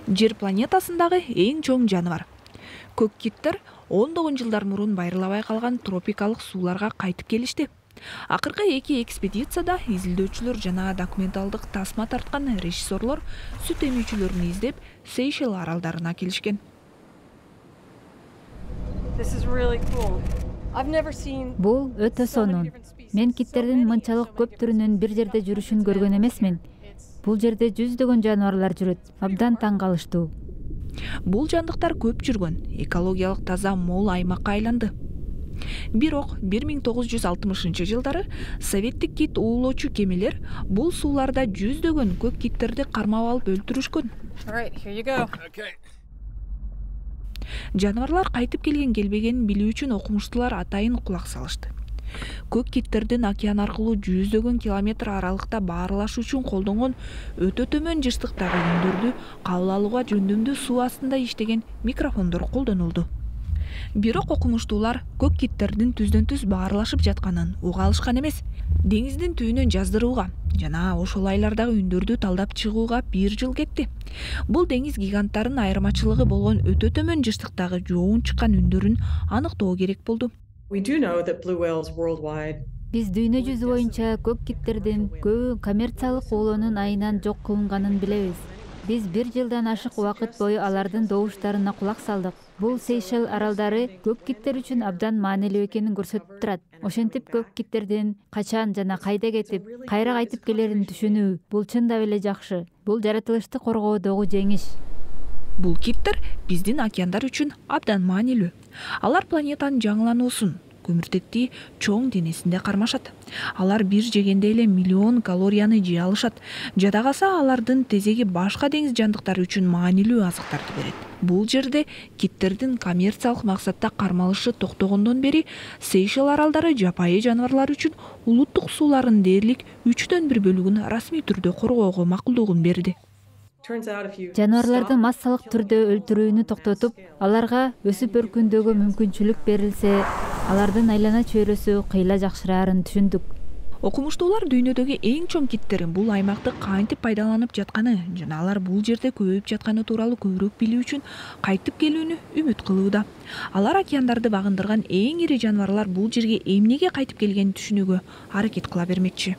Жер планетасындагы эң чоң жаныбар. Көк киттер ондогон жылдар мурун байырылабай калган тропикалык сууларга кайтып келишти. Акыркы эки экспедицияда изилдөөчүлөр жана документалдык тасма тарткан режиссерлор сүт эмүүчүлөрүн издеп Сейшел аралдарына келишкен. Бул өтө сонун. Мен киттердин мынчалык көп түрүнүн бир жерде жүрүшүн көргөн эмесмин. Бул жерде жүздөгөн жаныбарлар жүрөт. Абдан таң калыштуу. Бул жандыктар көп жүргөн, экологиялык таза мол аймакка айланды. Бирок 1960-жылдары советтик кит уулоочу кемелер бул сууларда жүздөгөн көк киттерди кармап алып өлтүрүшкөн. Жаныбарлар кайтып келген-келбегенин билүү үчүн окумуштуулар атайын кулак салышты. Көк киттердин океан аркылуу жүздөгөн километр аралыкта баарлашы үчүн колдонгон өтө төмөн жыштыктагы үндөрдү кабыл алууга жөндөмдүү суу астында иштеген микрофондор колдонулду. Бирок окумуштуулар көк киттердин түздөн-түз баарлашып жатканын уга алышкан эмес. Деңиздин түбүнөн жаздырууга жана ошол айлардагы үндөрдү талдап чыгууга 1 жыл кетти. Бул деңиз гиганттарынын айырмачылыгы болгон өтө төмөн жыштыктагы жоон чыккан үндөрүн аныктоо керек болду. Биз дүйнө жүзү боюнча көк киттердин көбү коммерциялык уулоонун айынан жок кылынганын билебиз. Биз 1 жылдан ашык убакыт бою алардын добуштарына кулак салдык. Бул Сейшел аралдары көк киттер үчүн абдан маанилүү экенин көрсөтүп турат. Ошентип көк киттердин качан жана кайда кетип, кайра кайтып келерин түшүнүү бул чындап эле жакшы. Бул жаратылышты коргоодогу жеңиш. Бул киттер биздин океандар үчүн абдан маанилүү. Алар планетанын жаңылануусун, көмүртектии чоң денесинде кармашат. Алар бир жегенде эле миллион калорияны жей алышат. Жада калса алардын тезеги башка деңиз жандыктары үчүн маанилүү азыктарды берет. Бул жерде киттердин коммерциялык максатта кармалышы токтогондон бери Сейшел аралдары жапайы жаныбарлар үчүн улуттук сууларынын дээрлик 1/3 бөлүгүн расмий түрдө коргоого макулдугун берди. Жаныбарларды массалык түрдө өлтүрүүнү токтотуп, аларга өсүп өркүндөөгө мүмкүнчүлүк берилсе, алардын айлана чөйрөсү кыйла жакшыраарын түшүндүк. Окумуштуулар дүйнөдөгү эң чоң киттерин бул аймакты кантип пайдаланып жатканы жана алар бул жерде көбөйүп жатканы тууралуу көбүрөөк билүү үчүн кайтып келүүнү үмүт кылууда. Алар океандарды багындырган эң ири жаныбарлар бул жерге эмнеге кайтып келгенин түшүнүүгө аракет кыла бермекчи.